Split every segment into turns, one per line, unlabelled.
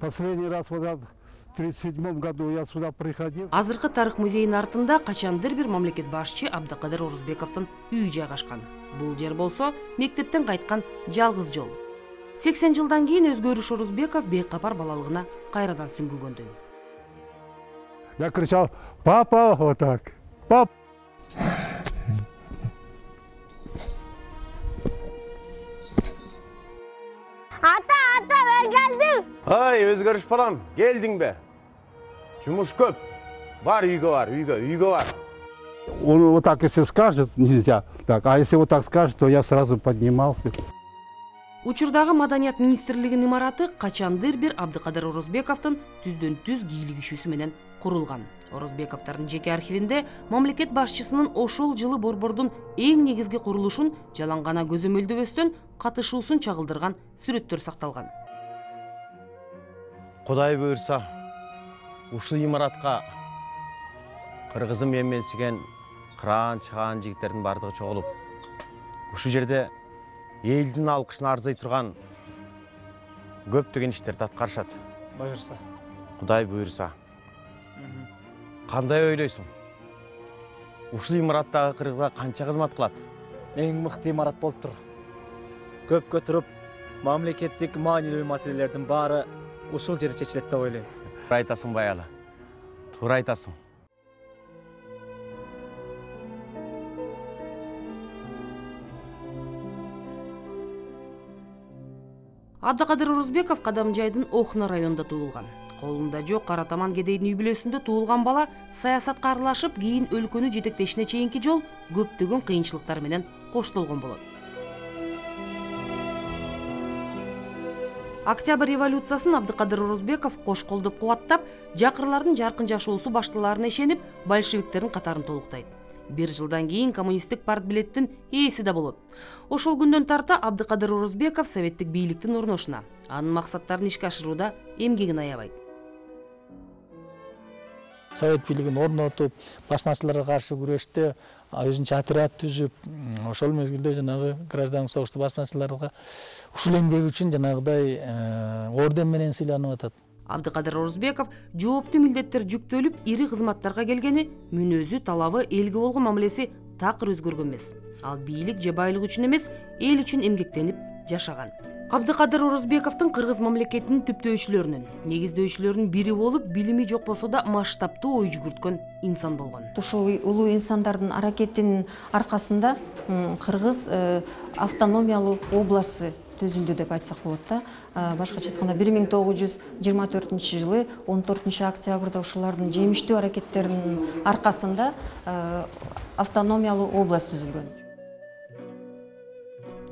Последний раз в 1937 году я сюда приходил.
Азыркы тарых музейинин артында качандыр бир мамлекет башчы Абдыкадыр Орузбековдун үйү жайгашкан. Бул жер болсо мектептен кайткан жалгыз жол. 80 жылдан кийин Өзгөрүш Орузбеков бейкапар балалыгына кайрадан сүңгүгөндөй.
Я кричал: папа, вот так, пап.
Ата, мен келдим.
Ай, Өзгөрүш балам, келдиң бе? Жумуш көп. Бар, үйгө бар.
Он вот так, если скажет, нельзя. Так, а если вот так скажет, то я сразу поднимался.
Учурдагы Маданият министрлигинин имараты качандыр бир Абдыкадыр Орузбековдун түздөн түз кийлик ишүүсү менен курулган. Орузбековдордун жеке архивинде мамлекет башчысынын ошол жылы борбордун эң негизги курулушун жалаң гана көзөмөлдөбөстөн катышуусун чагылдырган сүрөттөр сакталган.
Кудай буйрса, ушул имаратка кыргызым эмменсиген кыраан чыгаан жигиттердин бардыгы чогулуп, ушул жерде элдин алкышына арзый турган көптөгөн иштерди аткарышат.
Буйрса.
Кудай буйрса. Кандай ойлойсуң? Ушул имараттагы кыргызга канча кызмат кылат?
Эң мыкты имарат болуп тур. Көп көтөрүп, мамлекеттик маанилүү маселелердин баары ушул жерде чечилет деп ойлойм.
Туура айтасың баягы. Туура айтасың.
Абдыкадыр Орузбеков Кадамжайдын Охна районунда туулган. Колунда жок Каратаман кедейдин үй бүлөсүндө туулган бала саясатка аралашып, кийин өлкөнү жетектешине чейинки жол көптөгөн кыйынчылыктар менен коштолгон болот. Октябрь революциясын Абдыкадыр Орузбеков кош колдоп кубаттап, жакырлардын жаркын жашоосу башталарына ишенип, большевиктердин катарын толуктайт. Бир жылдан кийин коммунисттик партбилеттин ээси да болот. Ошол күндөн тарта Абдыкадыр Орузбеков советтик бийликтин орношуна, анын максаттарын ишке ашырууда эмгегин аябайт.
Совет бийлигин орнотуп, басмачыларга каршы күрөштө өзүнчө отряд түзүп, ошол мезгилде жанагы гражданский согушту басмачыларга ушул эмгеги үчүн жанагыдай орден менен сыйланып атат.
Абдыкадыр Орузбеков жооптуу милдеттер жүктөлүп, ири кызматтарга келгени, мүнөзү, талабы, элге болгон мамилеси такыр өзгөргөн эмес. Ал бийлик же байлык үчүн эмес, эл үчүн эмгектенип жашаган. Абдыкадыр Орузбековдун кыргыз мамлекетинин түптөөчүлөрүнүн, негиздөөчүлөрүнүн бири болуп, билими жок болсо да масштабтуу ой жүгүрткөн инсан болгон.
Ушул улуу инсандардын аракетинин аркасында кыргыз автономиялуу областы түзүлдү деп айтсак болот да. Башкача айтканда 1924 жылы 14 октябрда ушулардын жемиштүү аракеттеринин аркасында автономиялуу область түзүлгөн.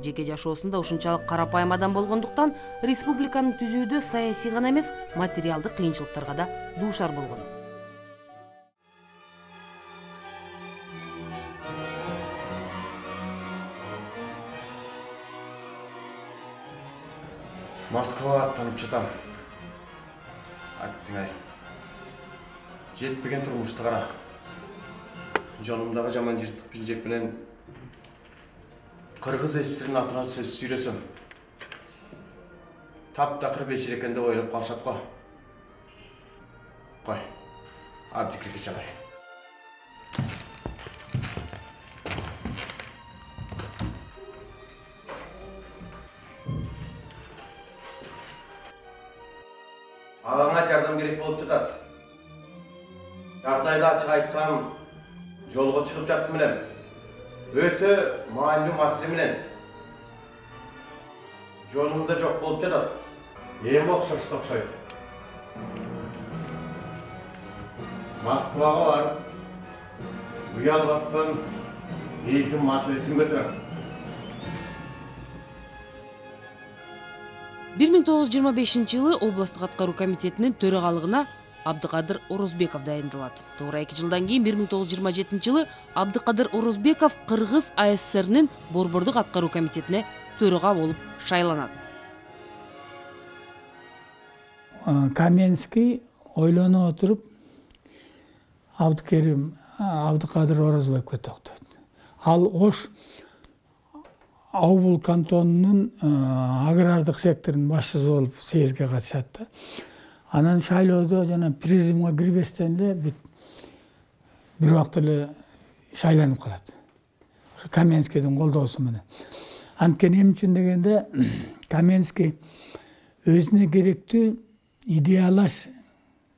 Жеке жашоосунда ушунчалык карапайым адам болгондуктан республиканы түзүүдө саясий гана эмес, материалдык кыйынчылыктарга да дуушар болгон.
Москвага аттанып жатам. Аттың ай. Жетпеген турмушты кара. Жонумдагы жаман жыртык пинжек менен кыргыз эсирин атына сөз сүйлөсөм. Таптакыр бешер экен деп ойлоп калышат го. Кой. Абдикирге чалай. Агаңа жардам керек болуп жатат. Жагдайды ачык айтсам, жолго чыгып жаттым элем. Өтө маанилүү маселе менен. Жолумда жок болуп жатат. Эң окшойт. Москвага барып, уялбастан элдин маселесин көтөрөм.
1925 жылы областтык аткаруу комитетинин төрагалыгына Абдыкадыр Орузбеков дайындалат. Туура 2 жылдан кийин 1927 жылы Абдыкадыр Орузбеков Кыргыз АССРнин борбордук аткаруу комитетине төрага болуп шайланат.
Каменский ойлонуп отуруп Абдыкадыр Орузбековго токтойт. Ал Ош Аубул кантонунун агрардык секторунун башчысы болуп съездге катышат да. Анан шайлоодо жана президиумга кирбестен эле бүт бир убакта эле шайланып калат. Каменскийдин колдоосу менен. Анткени эмне үчүн дегенде Каменский өзүнө керектүү идеялаш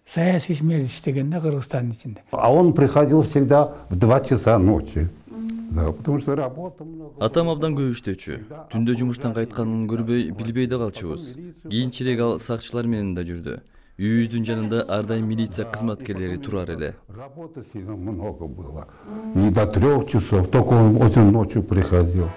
саясий ишмер иштеген да Кыргызстандын ичинде.
А он приходил всегда в 2 часа ночи. Да, потому что работа много.
Атам абдан көп иштөөчү. Түндө жумуштан кайтканын көрбөй, билбей да калчубуз. Кийинчерээк ал сакчылар менен да жүрдү. Үйүбүздүн жанында ар дайым милиция кызматкерлери турар эле.
Работы сильно много было. И до 3 часов, только он очень ночью приходил.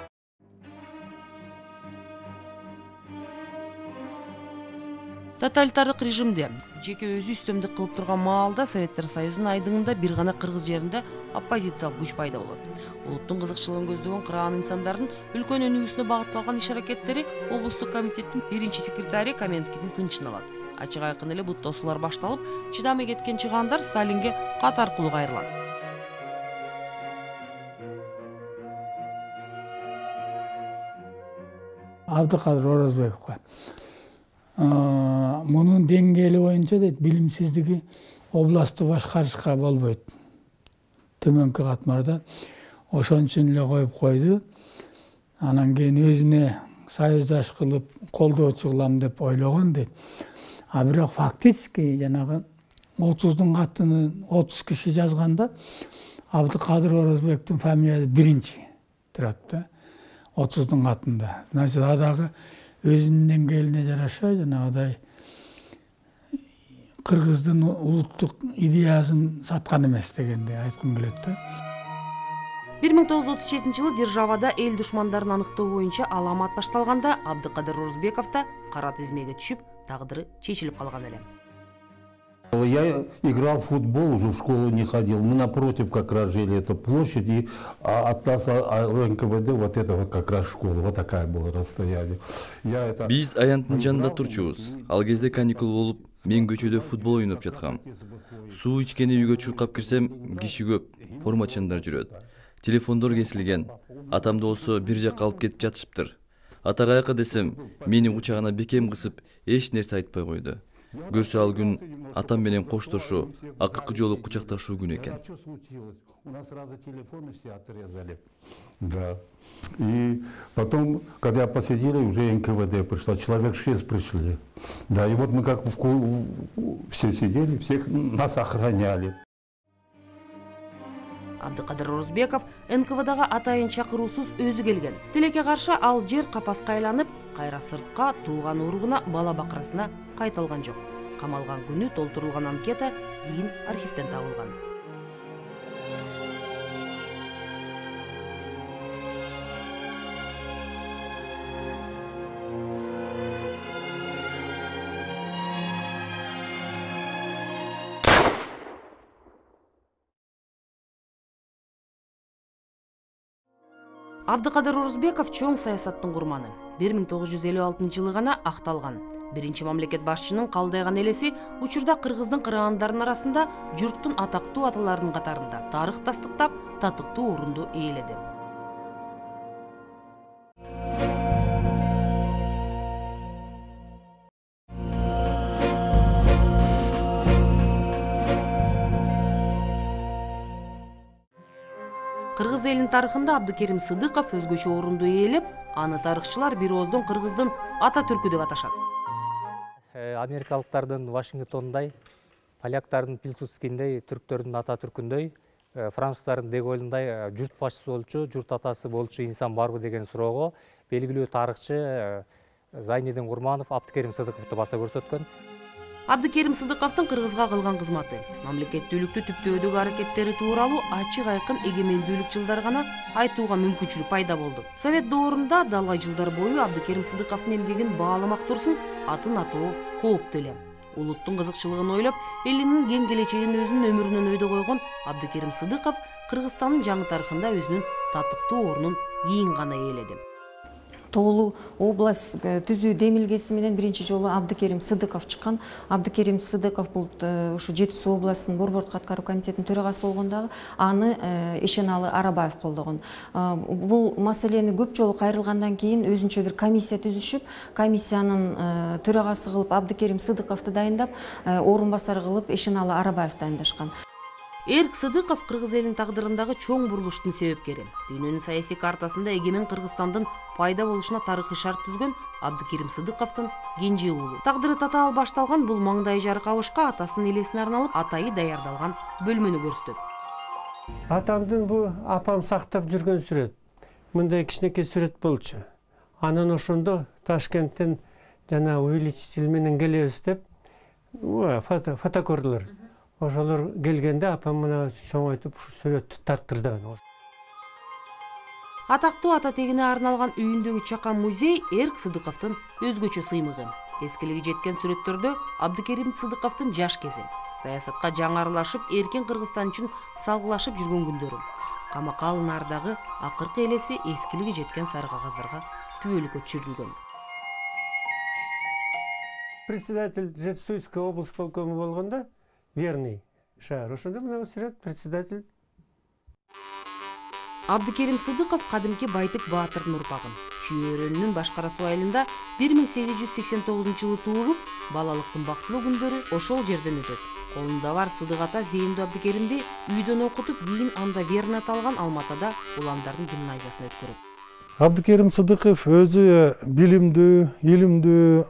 Тоталитардык режимде жеке өзү үстөмдүк кылып турган маалда Советтер Союзунун айдыңында бир гана кыргыз жеринде оппозициялык күч пайда болот. Улуттун кызыкчылыгын көздөгөн кыраан инсандардын үлкөн өнүгүүсүнө багытталган иш-аракеттери облустук комитеттин 1-секретари Каменскийдин тынчын алат. Ачык айкын эле бут тосуулар башталып, чыдамый кеткен чыгаандар Сталинге кат аркылуу кайрылат.
Абдыкадыр Оразбековго мунун деңгээли боюнча дейт билимсиздиги областты башкарышка болбойт. Төмөнкү катмарда ошон үчүн эле коюп койду. Анан кийин өзүнө союздаш кылып колдоочу кылам деп ойлогон дейт. А бирок фактически жанагы 30-дун катынын 30 киши жазганда Абдыкадыр Оразбековдун фамилиясы биринчи турат да. 30-дун катында. Значит, адагы өзүнүн деңгээлине жараша жанагыдай кыргыздын улуттук идеясын саткан эмес дегенди айткым келет да.
1937-жылы державада эл душмандарын аныктоо боюнча аламат башталганда Абдыкадыр Оразбеков да кара тизмеге түшүп, тагдыры чечилип калган эле.
Я играл в футбол, уже в школу не ходил. Мы напротив как раз жили эту площадь, и от нас НКВД вот это вот как раз школа. Вот такая была расстояние.
Биз аянттын жанында турчубуз. Ал кезде каникул болуп, мен көчөдө футбол ойноп жаткам. Суу ичкени үйгө чуркап кирсем, киши көп, формачандар жүрөт. Телефондор кесилген. Атамды болсо бир жакка алып кетип жатышыптыр. Ата каяка десем, мени кучагына бекем кысып, эч нерсе айтпай койду. Көрсө ал күн атам менен коштошуу, акыркы жолу кучакташуу күнү экен.
У нас сразу телефоны все отрезали. Да. И потом, когда посидели, уже НКВД пришла, человек 6 пришли. Да, и вот мы как все сидели, всех нас охраняли.
Абдыкадыр Оразбеков НКВДга атайын чакыруусуз өзү келген. Тилекке каршы ал жер капаска айланып, кайра сыртка тууган уругуна бала бакырасына кайталган жок. Камалган күнү толтурулган анкета кийин архивден табылган. Абдыкадыр Оразбеков чоң саясаттын курманы. 1956-жылы гана акталган. Биринчи мамлекет башчынын калдайган элеси учурда кыргыздын кыраандарын арасында журттун атактуу аталарынын катарында тарых тастыктап татыктуу орунду ээледи. Кыргыз элинин тарыхында Абдыкерим Сыдыков өзгөчө орунду ээлеп, аны тарыхчылар бир ооздон кыргыздын ата түркү деп аташат.
Америкалыктардын Вашингтондой, поляктардын Пилсудскиндей, түрктөрдүн ата түркүндөй, француздардын Деголундай журт башчысы болчу, журт атасы болчу инсан барбы деген суроого белгилүү тарыхчы Зайнидин Курманов Абдыкерим Сыдыковду баса көрсөткөн.
Абдыкерим Сыдыковдун кыргызга кылган кызматы, мамлекеттүүлүктү түптөөдөгү аракеттери тууралуу ачык айкын эгемендүүлүк жылдары гана айтууга мүмкүнчүлүк пайда болду. Совет доорунда далай жылдар бою Абдыкерим Сыдыковдун эмгегин бааламак турсун, атын атоо кооптуу эле. Улуттун кызыкчылыгын ойлоп, элинин кең келечегин өзүнүн өмүрүнөн өйдө койгон Абдыкерим Сыдыков Кыргызстандын жаңы тарыхында өзүнүн татыктуу орунун кийин гана ээледи.
тоолуу область түзүү демилгеси менен биринчи жолу Абдыкерим Сыдыков чыккан. Абдыкерим Сыдыков бул ушу Жети Суу областынын Борбордук аткаруу комитетинин төрагасы болгон дагы аны Эшеналы Арабаев колдогон. Бул маселени көп жолу кайрылгандан кийин өзүнчө бир комиссия түзүшүп, комиссиянын төрагасы кылып Абдыкерим Сыдыковду дайындап, орун басары кылып Эшеналы Арабаев дайындашкан.
Эрк Сыдыков кыргыз элинин тагдырындагы чоң бурулуштун себепкери. Дүйнөнүн саясий картасында эгемен Кыргызстандын пайда болушуна тарыхый шарт түзгөн Абдыкерим Сыдыковдун кенже уулу. Тагдыры татаал башталган бул маңдай жаркабышка атасынын элесине арналып атайы даярдалган бөлмөнү көрсөтөт.
Атамдын бул апам сактап жүргөн сүрөт. Мындай кичинекей сүрөт болчу. Анан ошондо Ташкенттен жана увеличитель менен келебиз деп фото көрдүлөр. Ошолор келгенде апам мына чоңойтуп ушу сүрөттү тарттырды.
Атактуу ата тегине арналган үйүндөгү чакан музей Эрк Сыдыковдун өзгөчө сыймыгы. Эскилиги жеткен сүрөттөрдө Абдыкерим Сыдыковдун жаш кези, саясатка жаңы аралашып, эркин Кыргызстан үчүн салгылашып жүргөн күндөрү, камакал нардагы акыркы элеси эскилиги жеткен сары кагаздарга түбөлүккө түшүрүлгөн.
Председатель Жетисуйской область полкому болгондо верный шаар. Ошондо мына сүрөт председатель.
Абдыкерим Сыдыков кадимки Байтык Баатырдын урпагы. Чүйөрөнүнүн башкарасы айылында 1889 туулуп, балалыктын бактылуу күндөрү ошол жерден өтөт. Колунда бар Сыдык ата Зейиндүү Абдыкеримди үйдөн окутуп, кийин анда верный аталган Алматада уландардын гимназиясына өткөрөт.
Абдыкерим Сыдыков өзү билимдүү, илимдүү,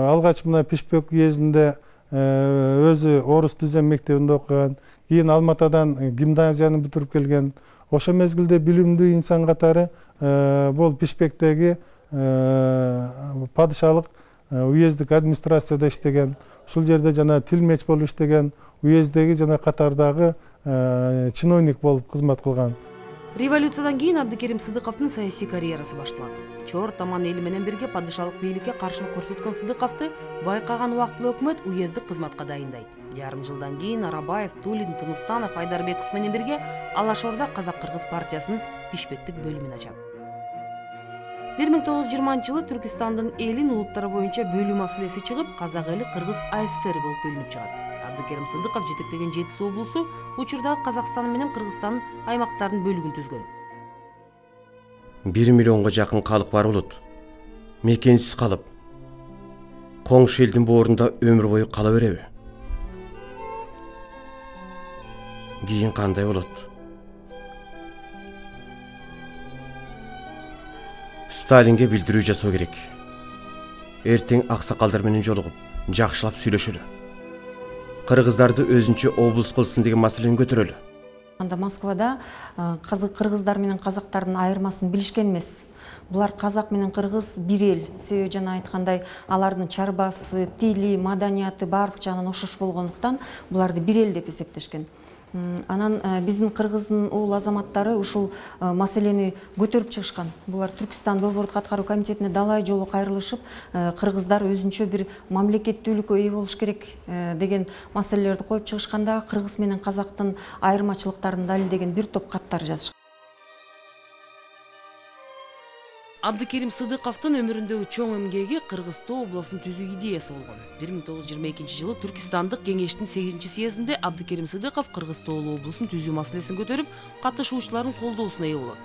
алгач мына Пишпек уездинде өзү орус түзем мектебинде окуган, кийин Алматадан гимназияны бүтүрүп келген. Ошо мезгилде билимдүү инсан катары бул Пишпектеги падышалык уездик администрацияда иштеген. Ушул жерде жана тилмеч болуп иштеген, уездеги жана катардагы чиновник болуп кызмат кылган.
Революциядан кийин Абдыкерим Сыдыковдун саясий карьерасы башталат. Чор таман эли менен бирге падышалык бийликке каршылык көрсөткөн Сыдыковду байкаган убактылуу өкмөт уездик кызматка дайындайт. Жарым жылдан кийин Арабаев, Тулин, Тыныстанов, Айдарбеков менен бирге Алашорда Казак-Кыргыз партиясынын Бишкектик бөлүмүн ачат. 1920-жылы Түркистандын элин улуттары боюнча бөлүү маселеси чыгып, Казак эли Кыргыз АССР болуп бөлүнүп чыгат. Абдыкерим Сыдыков жетектеген Жети Суу облусу учурдагы Казакстан менен Кыргызстандын аймактарынын бөлүгүн түзгөн.
1 миллионго жакын калык бар болот. Мекенсиз калып, коңшу элдин боорунда өмүр бою кала береби? Кийин кандай болот? Сталинге билдирүү жасоо керек. Эртең аксакалдар менен жолугуп, жакшылап сүйлөшөлү. Кыргыздарды өзүнчө облус кылсын деген маселени көтөрөлү.
Анда Москвада кыргыздар менен казактардын айырмасын билишкен эмес. Булар казак менен кыргыз бир эл. Себеби жана айткандай алардын чарбасы, тили, маданияты баардык жагынан окшош болгондуктан буларды бир эл деп эсептешкен. Анан биздин Кыргыздын уул азаматтары ушул маселени көтөрүп чыгышкан. Булар Түркистан Борбордук аткаруу комитетине далай жолу кайрылышып, кыргыздар өзүнчө бир мамлекеттүүлүккө ээ болуш керек деген маселелерди коюп чыгышканда, кыргыз менен казактын айырмачылыктарын далилдеген бир топ каттар жазышкан.
Абдыкерим Сыдыковдун өмүрүндөгү чоң эмгеги Кыргызстоо областын түзүү идеясы болгон. 1922-жылы Түркистандык кеңештин 8-чи съездинде Абдыкерим Сыдыков Кыргызстоо облусун түзүү маселесин көтөрүп, катышуучулардын колдоосуна ээ болот.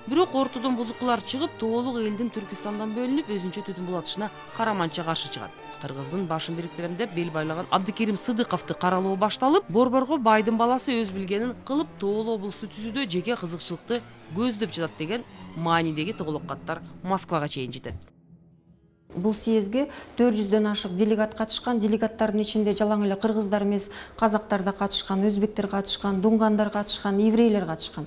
Бирок ортодон бузукулар чыгып, тоолук элдин Түркистандан бөлүнүп, өзүнчө түтүн булатышына караманча каршы чыгат. Кыргыздын башын бириктирем деп бел байлаган Абдыкерим Сыдыковду каралоо башталып, борборго байдын баласы өз билгенин кылып, тоолуу облусту түзүүдө жеке кызыкчылыкты көздөп жатат деген маанидеги тоголок каттар Москвага чейин жетет.
Бул съездге 400дөн ашык делегат катышкан. Делегаттардын ичинде жалаң эле кыргыздар эмес, казактар да катышкан, өзбектер катышкан, дунгандар катышкан, еврейлер катышкан.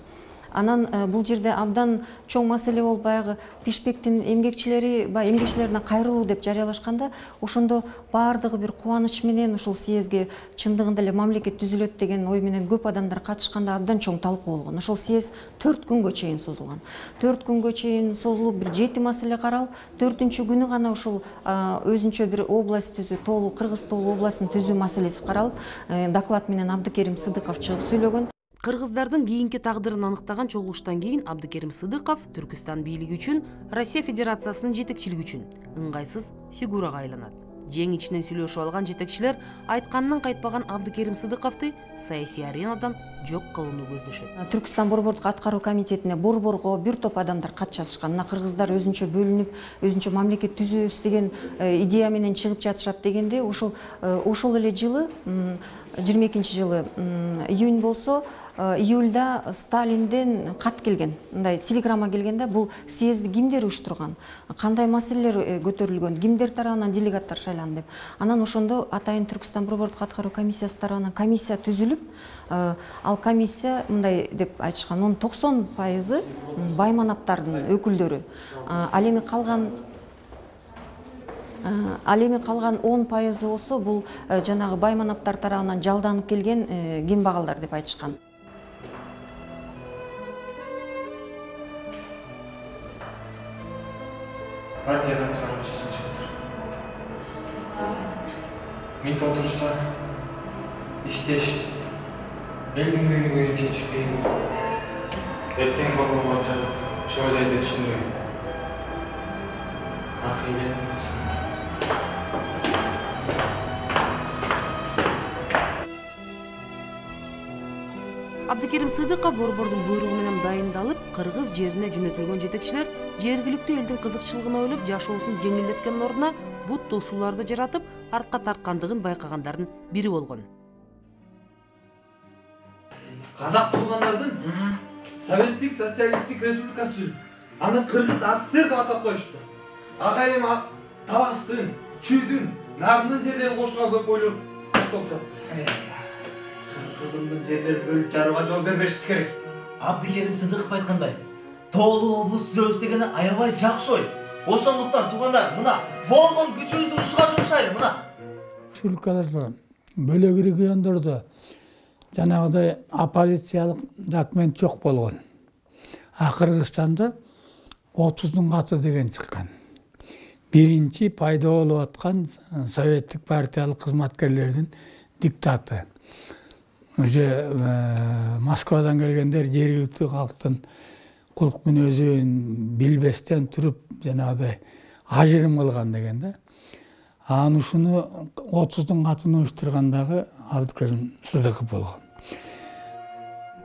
Анан бул жерде абдан чоң маселе болуп, баягы Бишкектин эмгекчилерине кайрылуу деп жарыялашканда, ошондо баардыгы бир кубаныч менен ушул съездге чындыгында эле мамлекет түзүлөт деген ой менен көп адамдар катышканда абдан чоң талкуу болгон. Ошол съезд 4 күнгө чейин созулган. 4 күнгө чейин созулуп, бир 7 маселе каралып, 4-күнү күнү гана ушул өзүнчө бир область түзүү, тоолуу Кыргыз тоолуу областын түзүү маселеси каралып, доклад менен Абдыкерим Сыдыков чыгып сүйлөгөн.
Кыргыздардын кийинки тагдырын аныктаган чогулуштан кийин Абдыкерим Сыдыков Түркүстан бийлиги үчүн Россия Федерациясынын жетекчилиги үчүн ыңгайсыз фигурага айланат. Жең ичинен сүйлөшүп алган жетекчилер айтканынан кайтпаган Абдыкерим Сыдыковду саясий аренадан жок кылууну көздөшөт.
Түркүстан борбордук аткаруу комитетине борборго бир топ адамдар кат жазышкан. Мына кыргыздар өзүнчө бөлүнүп, өзүнчө мамлекет түзөбүз деген идея менен чыгып жатышат дегенде, ошол эле жылы 22-жылы июнь болсо, июльда Сталинден кат келген, мындай телеграмма келгенде, бул съезди кимдер уюштурган, кандай маселелер көтөрүлгөн, кимдер тарабынан делегаттар шайланды деп. Анан ошондо атайын Түркүстан борбордук аткаруу комиссиясы тарабынан комиссия түзүлүп, ал комиссия мындай деп айтышкан, onun 90% байманаптардын өкүлдөрү. Ал эми калган 10% болсо, бул жанагы байманаптар тарабынан жалданып келген кембагалдар деп айтышкан.
Партиядан чыгарып чечим чыкты. Мынтип отурса, иштеш, элдин көйгөйүн чечишпей, эртең борборго жазып, чоо жайды түшүндүргөн. Акыйлет болсун.
Абдыкерим Сыдыков борбордун буйругу менен дайындалып, кыргыз жерине жөнөтүлгөн жетекчилер жергиликтүү элдин кызыкчылыгын ойлоп, жашоосун жеңилдеткендин ордуна бут тосууларды жаратып, артка тарткандыгын байкагандардын бири болгон.
Казак туугандардын Советтик социалисттик республикасы түзүлүп, аны Кыргыз СССР деп атап коюшту. Акайым Таластын, Чүйдүн, Нардын жерлерин кошууга көп ойлор топ жатты.
Кыргыздын жерлерин бөлүп жарууга жол бербешибиз керек. Абдыкерим Сыдыков айткандай, тоолуу облус түзөбүз дегени аябай жакшы ой. Ошондуктан туугандар, мына болгон күчүбүздү ушуга жумшайлы, мына.
Республикаларда, бөлөк региондордо жанагыдай оппозициялык документ жок болгон. А Кыргызстанда 30-дун каты деген чыккан. Биринчи пайда болуп аткан советтик партиялык кызматкерлердин диктаты. Уже Москвадан келгендер жергиликтүү калктын кулк мүнөзүн билбестен туруп жанагыдай ажырым кылган деген да. Анан ушуну 30-дун катын уюштургандагы Абдыкерим Сыдыков болгон.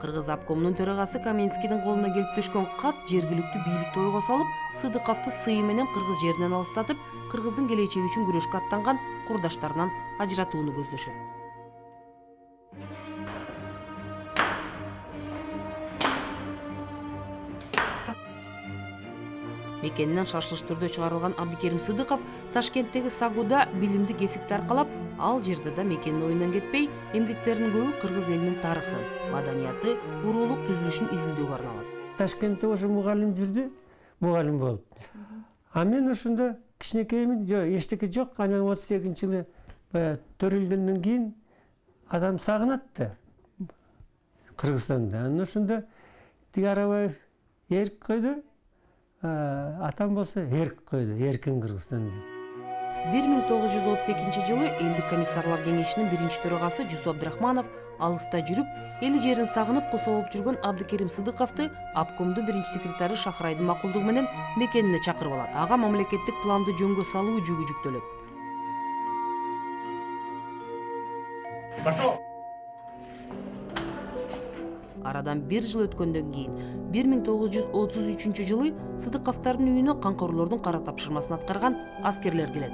Кыргыз обкомунун төрагасы Каменскийдин колуна келип түшкөн кат жергиликтүү бийликти ойго салып, Сыдыковду сыйы менен кыргыз жеринен алыстатып, кыргыздын келечеги үчүн күрөшкө аттанган курдаштарынан ажыратууну көздөшөт. Мекенинен шашылыш түрдө чыгарылган Абдыкерим Сыдыков Ташкенттеги Сагуда билимдик эсипти аркалап, ал жерде да мекенин оюндан кетпей, эмгектеринин көбү кыргыз элинин тарыхы, маданияты, уруулук түзүлүшүн изилдөөгө арналат.
Ташкентте ошо мугалим жүрдү, мугалим болуп. А мен ошондо кичинекеймин, эчтеке жок. Анан 38-жылы төрөлгөндөн кийин адам сагынат да Кыргызстанда. Анан ошондо Арабаев эрк койду. Атам болсо эрк койду, эркин Кыргызстан деп.
1932-жылы Элдик комиссарлар кеңешинин биринчи төрагасы Жусуп Абдрахманов алыста жүрүп, эли жерин сагынып косо болуп жүргөн Абдыкерим Сыдыковду обкомдун биринчи секретары Шахрайдын макулдугу менен мекенине чакырып алат. Ага мамлекеттик планды жөнгө салуу жүгү жүктөлөт.
Пошел!
Арадан 1 жыл өткөндөн кийин 1933-жылы Сыдыковдордун үйүнө камкорлордун кара тапшырмасын аткарган аскерлер келет.